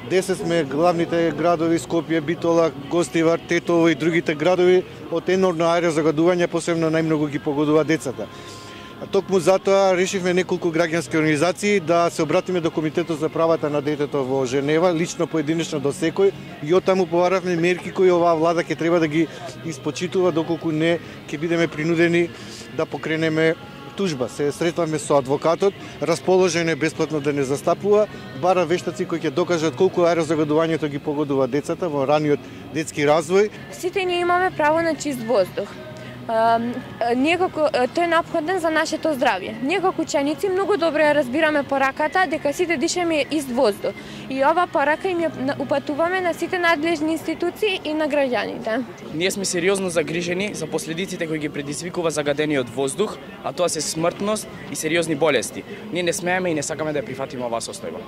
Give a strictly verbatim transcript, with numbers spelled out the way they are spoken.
десет сме главните градови, Скопје, Битола, Гостивар, Тетово и другите градови од енормно аерозагадување, посебно најмногу ги погодува децата. А токму затоа решивме неколку граѓански организации да се обратиме до Комитетот за правата на детето во Женева, лично поединечно до секој, и од таму побаравме мерки кои оваа влада ќе треба да ги испочитува доколку не ќе бидеме принудени да покренеме тужба. Се сретваме со адвокатот, расположен е бесплатно да не застапува, бара вештаци кои ќе докажат колку аерозагадувањето ги погодува децата во раниот детски развој. Сите ние имаме право на чист воздух. Некако тој е неопходен за нашето здравје. Ние како ученици многу добро ја разбираме пораката дека сите дишаме ист воздух. И ова порака им ја упатуваме на сите надлежни институции и на граѓаните. Ние сме сериозно загрижени за последиците кои ги предизвикува загадениот воздух, а тоа се смртност и сериозни болести. Ние не смееме и не сакаме да ја прифатиме оваа состојба.